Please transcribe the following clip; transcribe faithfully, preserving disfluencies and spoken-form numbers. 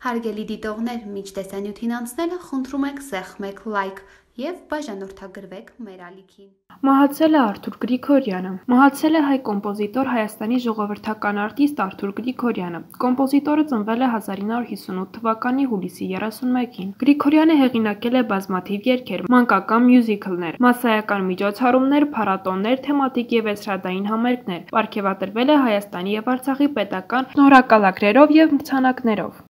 Հարգելի դիտողներ, մինչ տեսանյութին անցնելը խնդրում ենք սեղմեք լայք և բաժանորդագրվեք մեր ալիքին։ Մահացել է Արթուր Գրիգորյանը։ Մահացել է հայ կոմպոզիտոր, Հայաստանի ժողովրդական արտիստ Արթուր Գրիգորյանը։ Կոմպոզիտորը ծնվել է հազար ինը հարյուր հիսունութ թվականի հուլիսի երեսունմեկին։ Գրիգորյանը հեղինակել է բազմաթիվ երգեր, մանկական մյուզիքլներ, մասսայական միջոցառումներ, փառատոներ, թեմատիկ և էստրադային համերգներ։ Պարգևատրվել է Հայաստանի և Արցախի պետական շնորհակալագրերով և մրցանակներով։